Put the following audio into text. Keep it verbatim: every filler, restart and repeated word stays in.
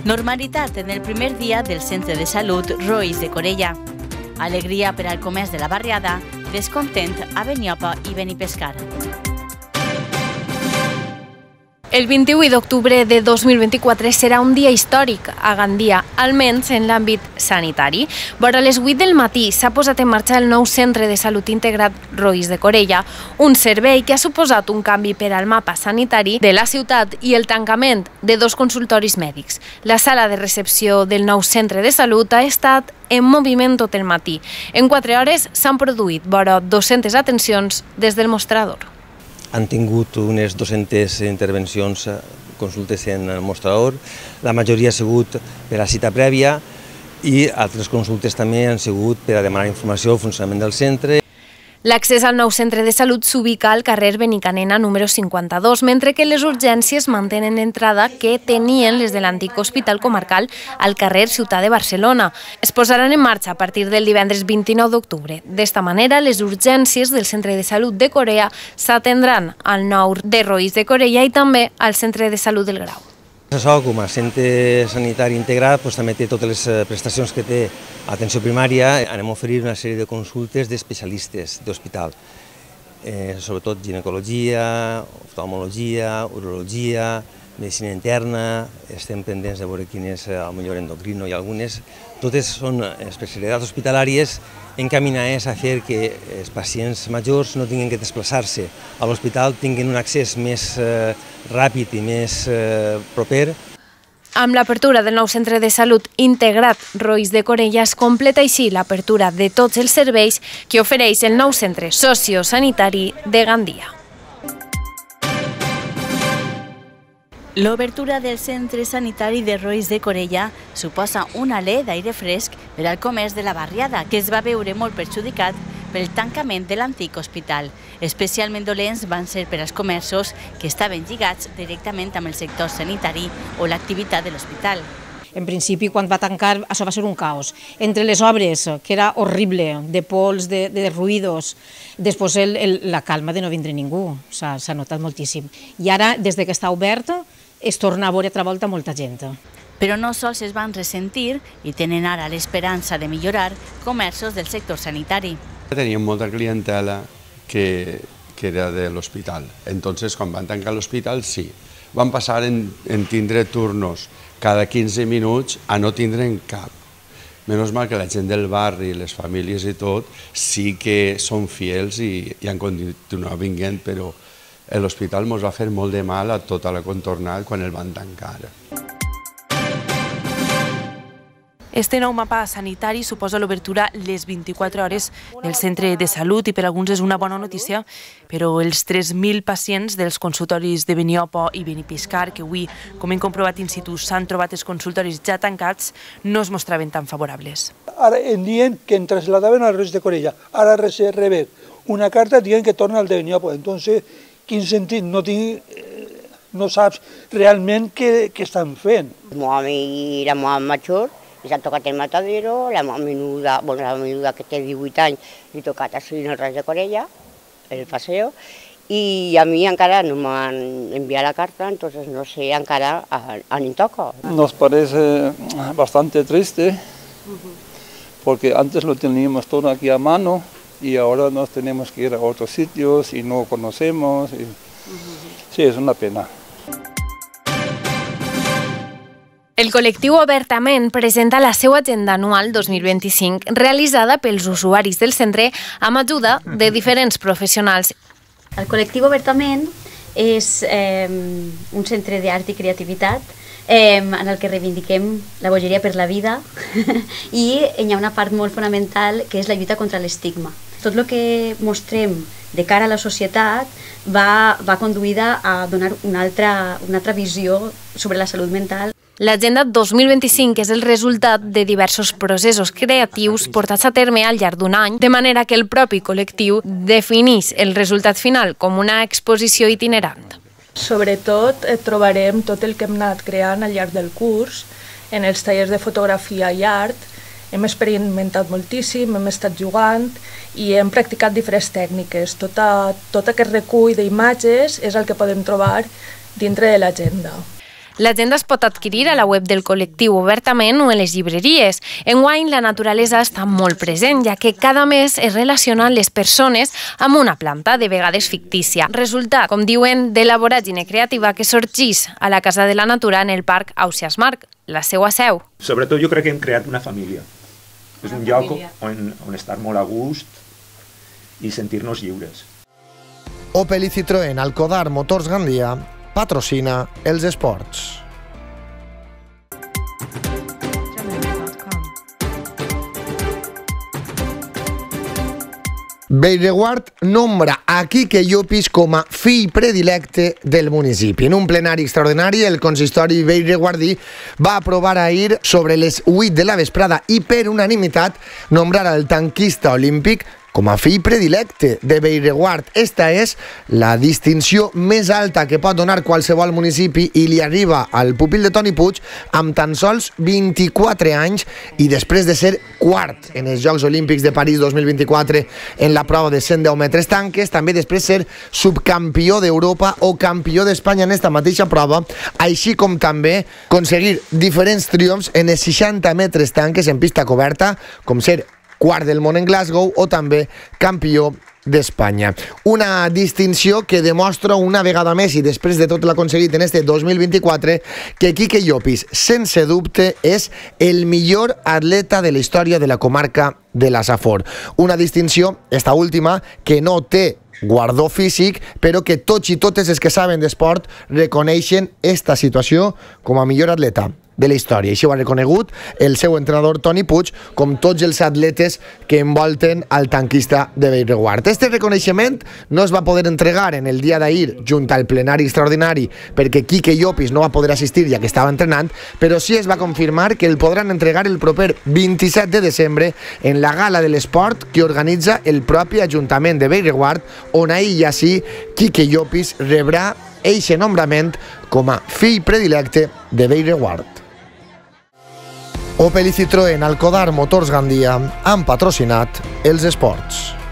Normalitat en el primer dia del Centre de Salut Roís de Corella. Alegria per al comerç de la barriada, descontent a Beniopa i Benipescar. El vint-i-vuit d'octubre de dos mil vint-i-quatre serà un dia històric a Gandia, almenys en l'àmbit sanitari. Vora les vuit del matí s'ha posat en marxa el nou Centre de Salut Integrat Roís de Corella, un servei que ha suposat un canvi per al mapa sanitari de la ciutat i el tancament de dos consultoris mèdics. La sala de recepció del nou Centre de Salut ha estat en moviment tot el matí. En quatre hores s'han produït vora dues-centes atencions des del mostrador. Han tingut unes dues-centes intervencions, consultes en el mostrador, la majoria ha sigut per a cita prèvia i altres consultes també han sigut per a demanar informació del funcionament del centre. L'accés al nou centre de salut s'ubica al carrer Benicanena número cinquanta-dos, mentre que les urgències mantenen l'entrada que tenien les de l'antic hospital comarcal al carrer Ciutat de Barcelona. Es posaran en marxa a partir del divendres vint-i-nou d'octubre. D'esta manera, les urgències del Centre de Salut de Corea s'atendran al nou de Roís de Corella i també al Centre de Salut del Grau. Això, com a centre sanitari integrat, també té totes les prestacions que té atenció primària. Anem a oferir una sèrie de consultes d'especialistes d'hospital, sobretot ginecologia, oftalmologia, urologia, medicina interna, estem pendents de veure quin és el millor endocrino i algunes. Totes són especialitats hospitalàries encaminades a fer que els pacients majors no tinguin que desplaçar-se a l'hospital, tinguin un accés més ràpid i més proper. Amb l'apertura del nou centre de salut integrat Roís de Corella es completa així l'apertura de tots els serveis que ofereix el nou centre sociosanitari de Gandia. L'obertura del centre sanitari de Roís de Corella suposa un alè d'aire fresc per al comerç de la barriada, que es va veure molt perjudicat pel tancament de l'antic hospital. Especialment dolents van ser per als comerços que estaven lligats directament amb el sector sanitari o l'activitat de l'hospital. En principi, quan va tancar, això va ser un caos. Entre les obres, que era horrible, de pols, de, de ruïdos, després el, el, la calma de no vindre ningú, s'ha notat moltíssim. I ara, des que està obert, es torna a veure altra volta molta gent. Però no sols es van ressentir i tenen ara l'esperança de millorar comerços del sector sanitari. Teníem molta clientela que, que era de l'hospital. Entonces, quan van tancar l'hospital, sí. Van passar en, en tindre turnos cada quinze minuts a no tindre'n cap. Menys mal que la gent del barri, les famílies i tot, sí que són fiels i, i han continuat vinguent, però l'hospital ens va fer molt de mal a tota la contornada quan el van tancar. Este nou mapa sanitari suposa l'obertura les vint-i-quatre hores del centre de salut i per alguns és una bona notícia, però els tres mil pacients dels consultoris de Beniopa i Benipescar, que avui, com hem comprovat in situ, s'han trobat els consultoris ja tancats, no es mostraven tan favorables. Ara em diuen que em trasladaven al Roís de Corella, ara rebem una carta dient que torna al de Beniopa, entonces, quin sentit? No tinc... no saps realment què estan fent. El meu home i la meva major li s'han tocat el matadero, la meva menuda, bueno, la menuda que té divuit anys, li ha tocat així en el Roís de Corella, el paseo, i a mi encara no m'han enviat la carta, entonces no sé encara a ni toca. Nos parece bastante triste, porque antes lo teníamos todo aquí a mano, y ahora nos tenemos que ir a otros sitios y no conocemos. Y... sí, es una pena. El col·lectiu Obertament presenta la seva agenda anual dos mil vint-i-cinc realitzada pels usuaris del centre amb ajuda de diferents professionals. El col·lectiu Obertament és eh, un centre d'art i creativitat eh, en el que reivindiquem la bogeria per la vida i hi ha una part molt fonamental que és la lluita contra l'estigma. Tot el que mostrem de cara a la societat va, va conduïda a donar una altra, una altra visió sobre la salut mental. L'Agenda dos mil vint-i-cinc és el resultat de diversos processos creatius portats a terme al llarg d'un any, de manera que el propi col·lectiu defineix el resultat final com una exposició itinerant. Sobretot trobarem tot el que hem anat creant al llarg del curs, en els tallers de fotografia i art. Hem experimentat moltíssim, hem estat jugant i hem practicat diferents tècniques. Tot aquest recull d'imatges és el que podem trobar dintre de l'agenda. L'agenda es pot adquirir a la web del col·lectiu obertament o en les llibreries. Enguany, la naturalesa està molt present, ja que cada mes es relacionen les persones amb una planta, de vegades fictícia. Resulta, com diuen, de la voràgine creativa que sorgeix a la Casa de la Natura en el Parc Ausiàs Marc, la seva seu. Sobretot jo crec que hem creat una família. És un lloc on, on estar molt a gust i sentir-nos lliures. Opel i Citroën Alcodar Motors Gandia patrocina els esports. Bellreguard nombra a Quique Llopis com a fill predilecte del municipi. En un plenari extraordinari, el consistori bellreguardí va aprovar ahir sobre les vuit de la vesprada i per unanimitat nombrar al tanquista olímpic com a fill predilecte de Bellreguard. Esta és la distinció més alta que pot donar qualsevol municipi i li arriba al pupil de Toni Puig amb tan sols vint-i-quatre anys i després de ser quart en els Jocs Olímpics de París dos mil vint-i-quatre en la prova de cent deu metres tanques, també després ser subcampió d'Europa o campió d'Espanya en esta mateixa prova, així com també aconseguir diferents triomfs en els seixanta metres tanques en pista coberta, com ser quart del món en Glasgow o també campió d'Espanya. Una distinció que demostra una vegada més i després de tot l'aconseguit en este dos mil vint-i-quatre que Quique Llopis, sense dubte, és el millor atleta de la història de la comarca de la Safor. Una distinció, esta última, que no té guardó físic, però que tots i totes els que saben d'esport reconeixen esta situació com a millor atleta de la història. Així ho ha reconegut el seu entrenador Toni Puig, com tots els atletes que envolten al tanquista de Bellreguard. Este reconeixement no es va poder entregar en el dia d'ahir junt al plenari extraordinari perquè Quique Llopis no va poder assistir ja que estava entrenant, però sí es va confirmar que el podran entregar el proper vint-i-set de desembre en la gala de l'esport que organitza el propi Ajuntament de Bellreguard, on ahir i així Quique Llopis rebrà eixe nombrament com a fill predilecte de Bellreguard. Opel i Citroën Alcodar Motors Gandia han patrocinat els esports.